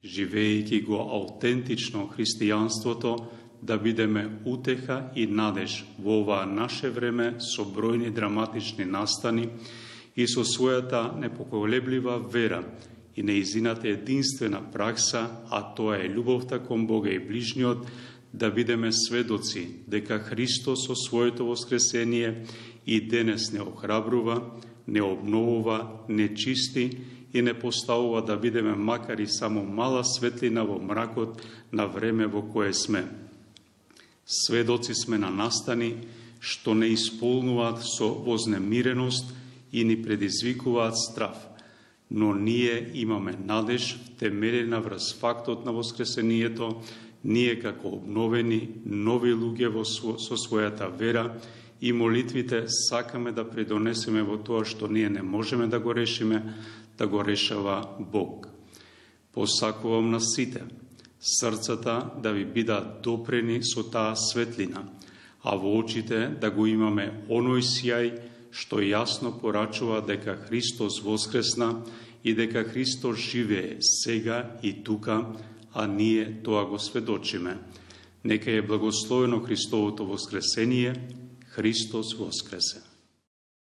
живеејќи го аутентично христијанството, да бидеме утеха и надеж во оваа наше време со бројни драматични настани и со својата непоколеблива вера и неизината единствена пракса, а тоа е љубовта кон Бога и ближниот, да бидеме сведоци дека Христос со своето воскресение и денес не охрабрува, не обновува, не чисти и не поставува да бидеме макар и само мала светлина во мракот на време во кое сме. Сведоци сме на настани што не исполнуваат со вознемиреност и ни предизвикуваат страф, но ние имаме надеж втемелена врз фактот на воскресението, ние како обновени, нови луѓе со својата вера и молитвите сакаме да придонесеме во тоа што ние не можеме да го решиме, да го решава Бог. Посакувам на сите срцата да ви бидат допрени со таа светлина, а во очите да го имаме оној сјај што јасно порачува дека Христос воскресна и дека Христос живее сега и тука, а ние тоа го сведочиме. Нека е благословено Христовото воскресение. Христос воскресе!